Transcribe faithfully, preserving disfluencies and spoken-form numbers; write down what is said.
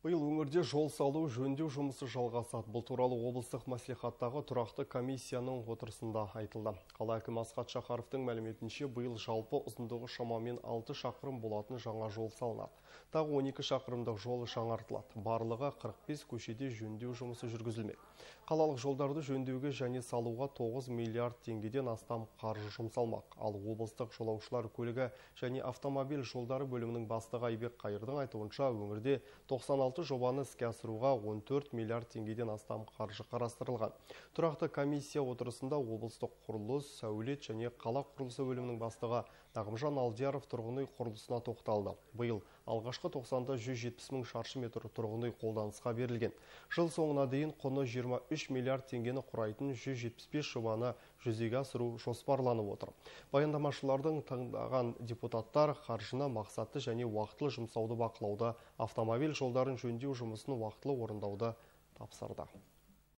Биыл өңірде жол салу жөндеу жұмысы жалғасады. Бұл туралы облыстық мәслихаттағы тұрақты комиссияның отырысында айтылды. Қала әкімі Асхат Шахаровтың мәліметінше, биыл жалпы ұзындығы шамамен алты шақырым болатын жаңа жол салынады. Тағы он екі шақырымдық жол жаңартылады. Барлығы қырық бес көшеде жөндеу жұмысы жүргізілмек. Қалалық жолдарды жөндеуге және салуға тоғыз миллиард теңгеден астам қаржы жұмсалмақ. Ал облыстық жолаушылар көлігі және автомобиль жолдары бөлімінің бастығы Айбек Қайырдың айтуынша, өңірде тоқсан алты жобаны іске асыруға он төрт миллиард теңгеден астам қаржы қарастырылған. Тұрақты комиссия отырысында облыстық құрылыс, сәулет және қала құрылысы бөлімінің бастығы Нағымжан Алдияров тұрғын үй құрылысына тоқталды. Биыл алғашқы тоқсанда жүз жетпіс мың шаршы метр тұрғын үй қолданысқа берілген. Жыл соңына дейін құны жиырма үш миллиард теңгені құрайтын жүз жетпіс бес жобаны жүзеге асыру жоспарланып отыр. Баяндамашылардың таңдаған депутаттар қаржыны мақсатты және уақытылы жұмсауды бақылауды, автомобиль жолдарын жөндеу жұмысын уақытылы орындауды тапсырды.